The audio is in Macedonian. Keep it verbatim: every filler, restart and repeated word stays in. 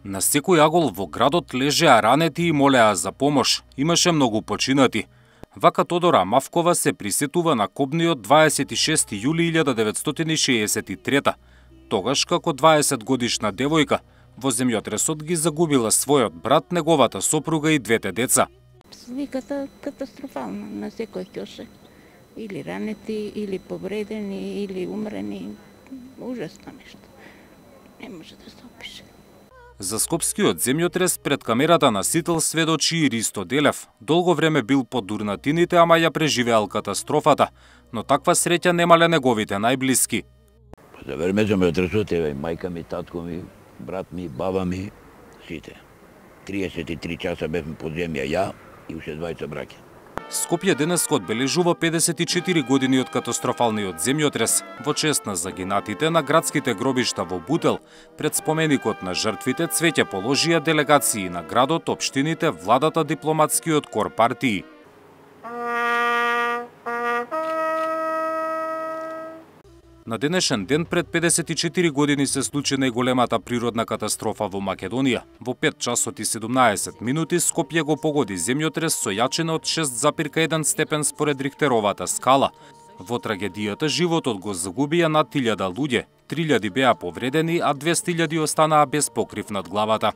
На секој агол во градот лежеа ранети и молеа за помош. Имаше многу починати. Вака Тодора Мавкова се присетува на кобниот дваесет и шести јули илјада деветстотини шеесет и трета. Тогаш, како дваесет годишна девојка, во земјотресот ги загубила својот брат, неговата сопруга и двете деца. Сликата катастрофална на секој ќоше. Или ранети, или повредени, или умрени. Ужасно нешто. Не може да се опише. За скопскиот земјотрес пред камерата на Сител сведочи и Ристо Делев. Долго време бил под дурнатините, ама ја преживеал катастрофата, но таква среќа немале неговите најблиски. За време земјотресот, еве, мајка ми, татко ми, брат ми, баба ми, сите. триесет и три часа бевме под земја ја и уште двајца браќа. Скопје денеска одбележува педесет и четири години од катастрофалниот земјотрес. Во чест на загинатите на градските гробишта во Бутел, пред споменикот на жртвите цвеќе положија делегации на градот, општините, владата, дипломатскиот кор, партии. На денешен ден пред педесет и четири години се случи најголемата природна катастрофа во Македонија. Во пет часот и седумнаесет минути Скопје го погоди земјотрес со јачина од шест запирка еден степен според Рихтеровата скала. Во трагедијата животот го загубија над илјада луѓе, три илјади беа повредени, а двесте илјади останаа без покрив над главата.